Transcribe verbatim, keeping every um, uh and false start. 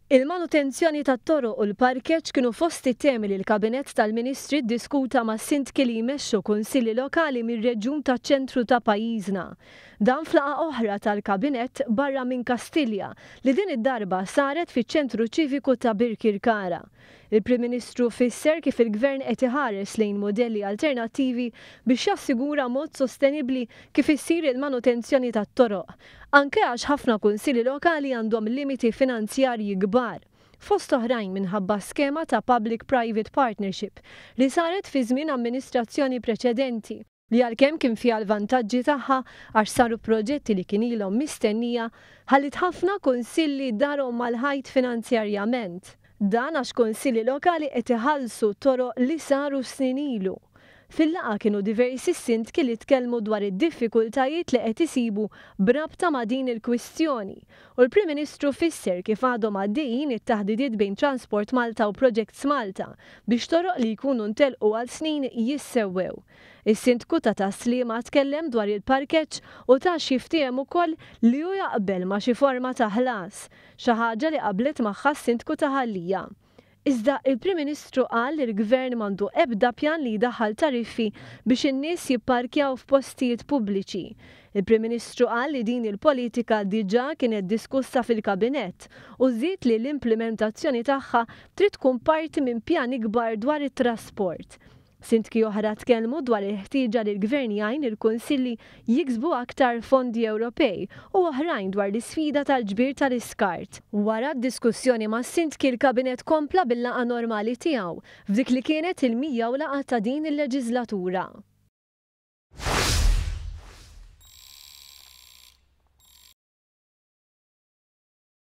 Il-manutenzjoni tat-toroq u l-parkeġġ kienu fost it-temi li l-Kabinett tal-Ministri ddiskuta ma' sindki li jmexxu kunsilli lokali mir-reġjun taċ-ċentru ta' pajjiżna. Dan f'laqgħa oħra tal-Kabinett barra minn Kastilja li din id-darba saret fiċ-Ċentru Ċiviku ta' Birkirkara. Il-Prim Ministru fisser kif il-Gvern qed iħares lejn mudelli alternattivi biex jassigura mod sostenibbli kif issir il-manutenzjoni tat-toroq, anke għax ħafna kunsilli lokali għandhom limiti finanzjarji kbar, fost oħrajn minħabba skema ta' Public-Private Partnership li saret fi żmien amministrazzjoni preċedenti, li għalkemm kien fiha l-vantaġġi tagħha għax saru proġetti li kien ilhom mistennija, ħalliet ħafna kunsilli darhom mal-ħajt finanzjarjament. Dan għax kunsilli lokali qed iħallsu toroq li saru snin ilu. Fil-laqgħa kienu diversi sindki li tkellmu dwar id-diffikultajiet li qed isibu b'rabta ma' din il-kwistjoni u l-Prim Ministru fisser kif għadhom għaddejjin it-taħdidiet bejn Transport Malta u Projects Malta biex toroq li jkunu ntelqu għal snin jissewwew. Is-Sindku ta' Tas-Sliema tkellem dwar il-parkeġġ u ta x'jiftiehem ukoll li hu jaqbel ma' xi forma ta' ħlas, xi ħaġa li qablet magħha s-Sindku ta' Ħal Lija. Iżda il-Prim Ministru qal li l-Gvern m'għandu ebda pjan li jdaħħal tariffi biex in-nies jipparkjaw f'postijiet pubbliċi. Il-Prim Ministru qal li din il-politika diġà kienet diskussa fil-Kabinett u żied li l-implementazzjoni tagħha trid tkun parti minn pjan ikbar dwar it-trasport. Sindki oħra tkellmu dwar il-ħtieġa li l-Gvern jgħin il-kunsilli jiksbu aktar fondi Ewropej u oħrajn dwar l-isfida tal-ġbir tal-iskart. Wara d-diskussjoni mas-sindki, l-Kabinett kompla bil-laqgħa normali tiegħu f'dik li kienet il-mija laqgħa ta' din il-leġislatura.